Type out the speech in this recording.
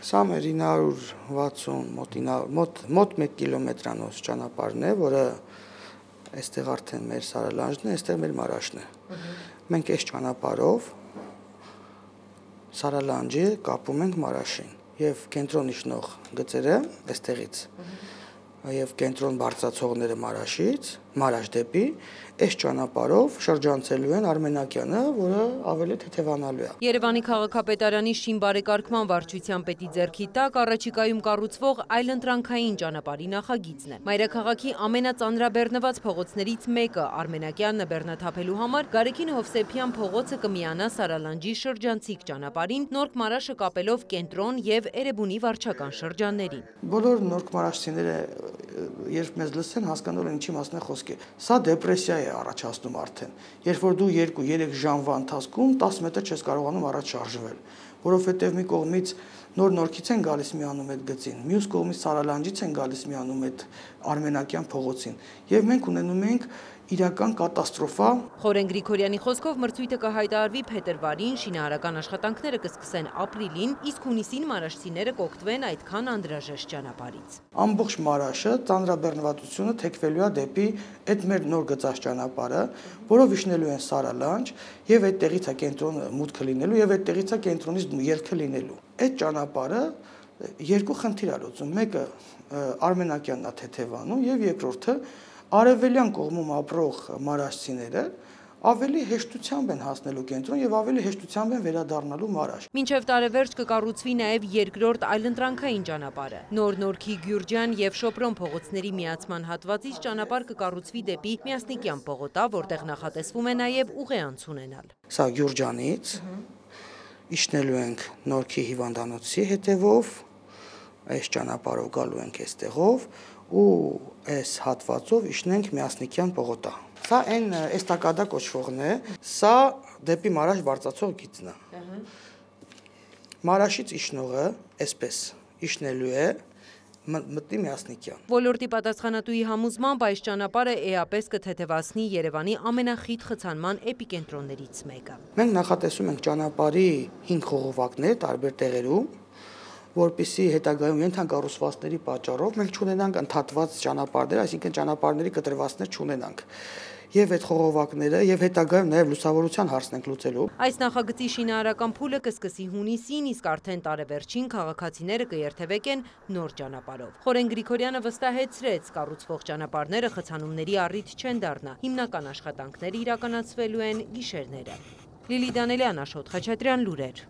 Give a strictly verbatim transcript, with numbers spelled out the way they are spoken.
Սա մեր ինը հարյուր վաթսուն մոտ մոտ մեկ կիլոմետրանոց ճանապարհն է, որը այստեղ արդեն մեր Սարալանջն է, այստեղ մեր Մարաշն է։ Մենք այս ճանապարհով Սարալանջի կապում ենք Մարաշին եւ կենտրոն իջնող գծերը այստեղից եւ կենտրոն բարձրացողները Մարաշից, Մարաշ դեպի այս ճանապարհով շրջանցելու են Արմենակյանը, որը ավելի թեթևանալու է։ Երևանի քաղաքապետարանի շինբարեկարգման վարչության պետի ձեռքի տակ առաջիկայում կառուցվող այլընտրանքային ճանապարհի նախագիծն է։ Մայրաքաղաքի ամենածանրաբեռնված փողոցներից մեկը Արմենակյանն բեռնաթափելու համար Գարեգին Հովսեփյան փողոցը կմիանա Սարալանջի շրջանցիկ ճանապարհին, Նորք Մարաշը կապելով կենտրոն եւ Էրեբունի վարչական շրջաններին։ Բոլոր նորք մարաշցիները երբ մեզ լսեն, հասկանալու են ինչի մասն է խոսքը։ Սա դեպրեսիա է առաջացնում արդեն, երբ որ դու երկու երեք ժամվա ընթացքում տասը մետր չես կարողանում առաջ շարժվել, որովհետև մի կողմից նոր Նորքից են գալիս միանում այդ գծին, մյուս կողմից Սարալանջից են գալիս միանում այդ Արմենակյան փողոցին, եւ մենք ունենում ենք իրական կատաստրոֆա։ Խորեն Գրիգորյանի խոսքով մրցույթը կհայտարարվի փետրվարին, շինարարական աշխատանքները կսկսեն ապրիլին, իսկ հունիսին մարաշցիները կօգտվեն այդքան անհրաժեշտ ճանապարհից։ Ամբողջ Մարաշը ծանրաբեռնվածությունը թեքվելու է դեպի այդ մեր նոր գծած ճանապարհը, որով իջնելու են Սարալանջ եւ այդտեղից է կենտրոնը մուտքը լինելու եւ այդտեղից է կենտրոնից ելքը լինելու։ Այդ ճանապարհը երկու խնդիր է լուծում։ Մեկը Արմենակյանն է թեթևանում եւ երկրորդը արևելյան կողմում ապրող մարաշցիները ավելի հեշտությամբ են հասնելու կենտրոն եւ ավելի հեշտությամբ են վերադառնալու Մարաշ։ Մինչև տարեվերջ կկառուցվի նաեւ երկրորդ այլընտրանքային ճանապարհը։ Նոր Նորքի Գյուրջան եւ Շոպրոն փողոցների միացման հատվածից ճանապարհ կկառուցվի դեպի Միասնիկյան պողոտա, որտեղ նախատեսվում է նաեւ ուղեանց ունենալ։ Սա Գյուրջանից իջնելու ենք Նորքի հիվանդանոցի հետևով, այս ճանապարհով գալու ենք այստեղով ու այս հատվածով իջնենք Միասնիկյան պողոտա։ Սա այն էստակադա կոչվողն է, սա դեպի Մարաշ բարձրացող գիծն է։ Մարաշից իջնողը այսպես իջնելու է մտնի Միասնիկյան։ Ոլորտի պատասխանատուի համոզմամբ այս ճանապարհը էապես կթեթևացնի Երևանի ամենախիտ խցանման էպիկենտրոններից մեկը։ Մենք նախատեսում ենք ճանապարհի հինգ խողովակներ տարբեր տեղերում, որպեսզի հետագայում ենթակառուցվածքների պատճառով մենք չունենանք ընդհատված ճանապարհներ, այսինքն ճանապարհների կտրվածքներ չունենանք։ Եվ այդ խողովակները եւ հետագայում նաեւ լուսավորության հարցն ենք լուծելու։ Այս նախագծի շինարարական փուլը կսկսի հունիսին, իսկ արդեն տարեվերջին քաղաքացիները կերթևեկեն նոր ճանապարհով։ Խորեն Գրիգորյանը վստահեցրեց, կառուցվող ճանապարհները խցանումների առիթ չեն դառնա։ Հիմնական աշխատանքները իրականացվելու են գիշերները։ Լիլի Դանելյան, Աշոտ Խաչատրյան, լուրեր։